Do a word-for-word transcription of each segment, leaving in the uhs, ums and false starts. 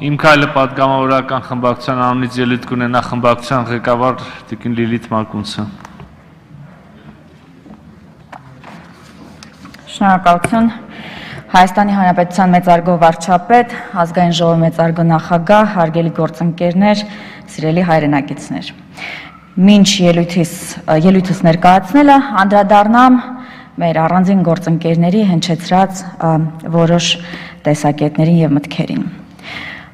Իմ քայլը պատգամավորական խմբակցության անունից ելույթ կունենա խմբակցության ղեկավար տիկին Լիլիթ Մակունցը։ Շնորհակալություն։ Հայաստանի Հանրապետության մեծարգո վարչապետ, ազգային ժողովի մեծարգո նախագահ, հարգելի գործընկերներ, սիրելի հայրենակիցներ։ Մինչ ելույթիս ելույթս ներկայացնելը անդրադառնամ մեր առանձին գործընկերների հնչեցրած որոշ տեսակետներին եւ մտքերին։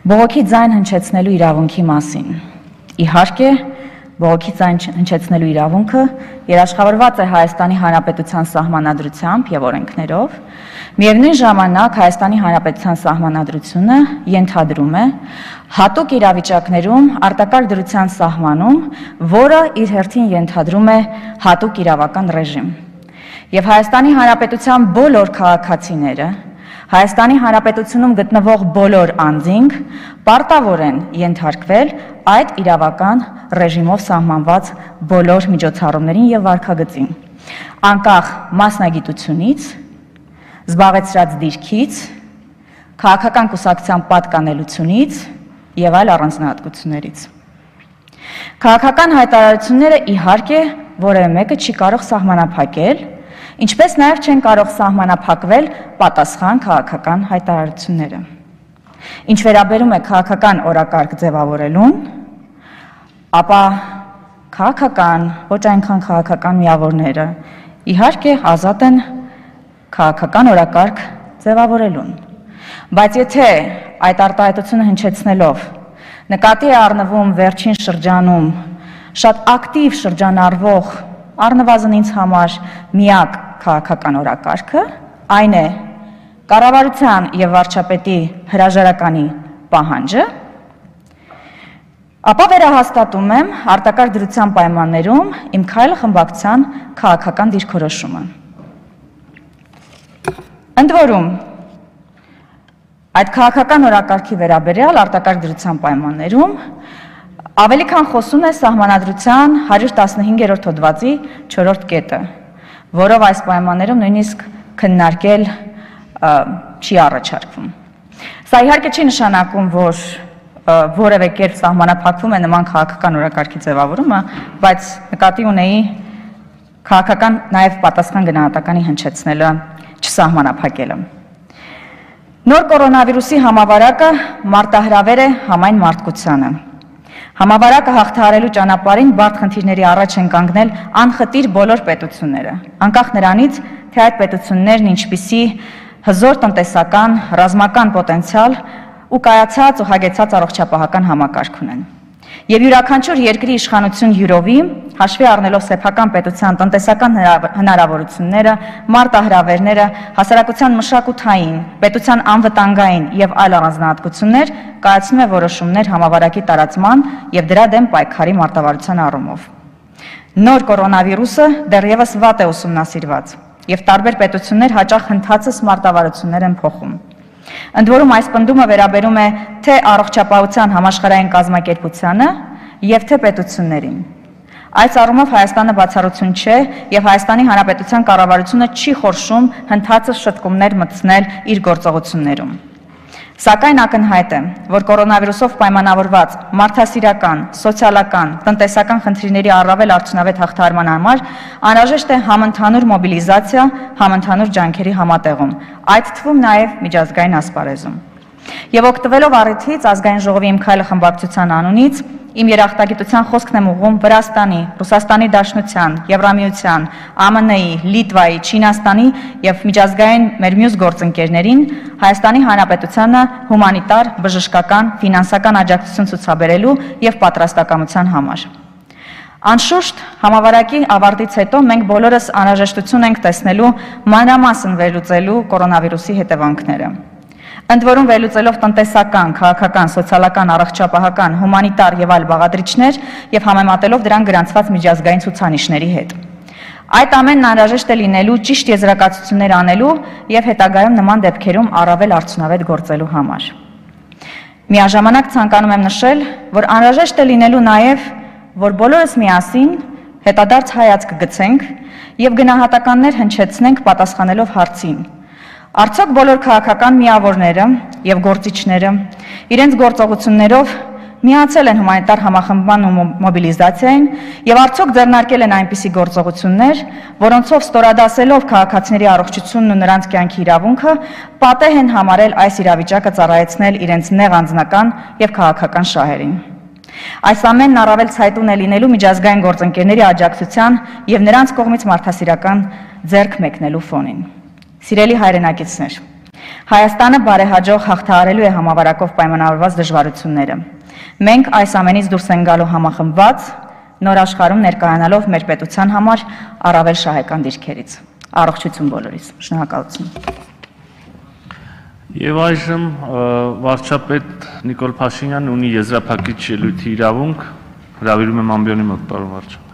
Բողոքի ձայն հնչեցնելու իրավունքի մասին։ Իհարկե, բողոքի ձայն հնչեցնելու իրավունքը երաշխավորված է Հայաստանի Հանրապետության սահմանադրությամբ եւ օրենքներով, միևնույն ժամանակ Հայաստանի Հանրապետության սահմանադրությունը ենթադրում է հատուկ իրավիճակներում արտակարգ դրության սահմանում, որը իր հերթին ենթադրում է հատուկ իրավական ռեժիմ։ Եվ Հայաստանի Հանրապետության բոլոր քաղաքացիները Հայաստանի Հանրապետությունում գտնվող բոլոր անձինք պարտավոր են ենթարկվել այդ իրավական ռեժիմով սահմանված բոլոր միջոցառումներին եւ վարքագծին, անկախ մասնագիտությունից, զբաղեցրած դիրքից, քաղաքական կուսակցության պատկանելությունից եւ այլ առանձնահատկություններից։ Քաղաքական հայտարարությունները իհարկե որևէ մեկը չի կարող սահմանափակել, ինչպես նաև չեն կարող սահմանափակվել պատասխան քաղաքական հայտարարությունները։ Ինչ վերաբերում է քաղաքական օրակարգ ձևավորելուն, ապա քաղաքական, ոչ այնքան քաղաքական միավորները իհարկե ազատ են քաղաքական օրակարգ ձևավորելուն։ Բայց եթե այդ արտահայտությունը հնչեցնելով նկատի է առնվում վերջին շրջանում շատ ակտիվ շրջանառվող առնվազն ինձ համար միակ քաղաքական օրակարգը, այն է կառավարության եւ վարչապետի հրաժարականի պահանջը, ապա վերահաստատում եմ արտակարգ դրության պայմաններում իմ քայլը խմբակցության քաղաքական դիրքորոշումը։ Ընդ որում, այդ քաղաքական օրակարգի վերաբերյալ արտակարգ դրության պայմաններում ավելի քան խոսում է սահմանադրության հարյուր տասնհինգերորդ հոդվածի չորրորդ կետը, որով այս պայմաններում նույնիսկ քննարկել չի առաջարկվում։ Սա իհարկե չի նշանակում, որ որևէ կերպ սահմանափակվում է նման քաղաքական օրակարգի ձևավորումը, բայց նկատի ունեի քաղաքական նաև պատասխան գնահատականի հնչեցնելը, չսահմանափակելը։ Նոր կորոնավիրուսի համավարակը մարտահրավեր է համայն մարդկությանը։ Համավարակը հաղթահարելու ճանապարհին բարդ խնդիրների առաջ են կանգնել անխտիր բոլոր պետությունները, անկախ նրանից, թե այդ պետություններն ինչպիսի հզոր տնտեսական, ռազմական պոտենցիալ ու կայացած ու հագեցած առողջապահական համակարգ ունեն։ Եվ յուրաքանչյուր երկրի իշխանություն յուրովի, հաշվի առնելով սեփական պետության տնտեսական հնարավորությունները, մարտահրավերները, հասարակության մշակութային, պետության անվտանգային եւ այլ առանձնահատկություններ, կայացնում է որոշումներ համավարակի տարածման եւ դրա դեմ պայքարի մարտավարության առումով։ Նոր կորոնավիրուսը դեռևս վատ է ուսումնասիրված եւ տարբեր պետություններ հաճախ հնդածս մարտավարություններ են փոխում։ Ընդ որում այս պնդումը վերաբերում է թե առողջապահության համաշխարհային կազմակերպությանը եւ թե պետություններին։ Այս առումով Հայաստանը բացառություն չէ եւ Հայաստանի Հանրապետության կառավարությունը չի խորշում հնդածս շտկումներ մտցնել իր գործողություններում։ Սակայն ակնհայտ է, որ կորոնավիրուսով պայմանավորված մարդասիրական, սոցիալական, տնտեսական խնդիրների առավել արդյունավետ հաղթահարման համար անհրաժեշտ է համընդհանուր մոբիլիզացիա, համընդհանուր ջանքերի համատեղում, այդ թվում նաև միջազգային ասպարեզում։ Եվ օգտվելով առիթից ազգային ժողովի իմ քայլը խմբակցության անունից իմ երախտագիտության խոսքն եմ ուղղում Վրաստանի, Ռուսաստանի Դաշնության, Եվրամիության, Α M N-ի, Լիտվայի, Չինաստանի եւ միջազգային մեր մյուս գործընկերներին Հայաստանի Հանրապետությանը հումանիտար, բժշկական, ֆինանսական աջակցություն ցուցաբերելու եւ պատրաստակամության համար։ Անշուշտ, համավարակի ավարտից հետո մենք բոլորս անհրաժեշտություն ենք տեսնելու մանրամասն վերլուծելու կորոնավիրուսի հետևանքները։ Ընդ որում վերլուծելով տնտեսական, քաղաքական, սոցիալական, առողջապահական, հումանիտար եւ այլ բաղադրիչներ եւ համեմատելով դրան գրանցված միջազգային ցուցանիշների հետ։ Այդ ամենն անհրաժեշտ է լինելու ճիշտ եզրակացություններ անելու եւ հետագայում նման դեպքերում առավել արդյունավետ գործելու համար։ Միաժամանակ ցանկանում եմ նշել, որ անհրաժեշտ է լինելու նաեւ, որ բոլորս միասին հետադարձ հայացք գցենք եւ գնահատականներ հնչեցնենք պատասխանելով հարցին. Արդյոք բոլոր քաղաքական միավորները եւ գործիչները իրենց գործողություններով միացել են հումանիտար համախմբման ու մոբիլիզացիային եւ արդյոք ձեռնարկել են այնպիսի գործողություններ, որոնցով ստորադասելով քաղաքացիների առողջությունն ու նրանց կյանքի իրավունքը, պատեհ են համարել այս իրավիճակը ծառայեցնել իրենց նեղ անձնական եւ քաղաքական շահերին։ Այս ամենն առավել ցայտուն է լինելու միջազգային գործընկերների աջակցության եւ նրանց կողմից մարդասիրական ձեռք մեկնելու ֆոնին։ Սիրելի հայրենակիցներ, Հայաստանը բարեհաջող հաղթահարելու է համավարակով պայմանավորված դժվարությունները։ Մենք այս ամենից դուրս ենք գալու համախմբված, նոր աշխարհում ներկայանալով մեր պետության համար առավել շահեկան դիրքերից։ Առողջություն բոլորիս։ Շնորհակալություն։ Եվ այժմ վարչապետ Նիկոլ Փաշինյանն ունի եզրափակիչ ելույթի իրավունք, հրավիրում եմ ամբիոնի մոտ, պարոն վարչապետ։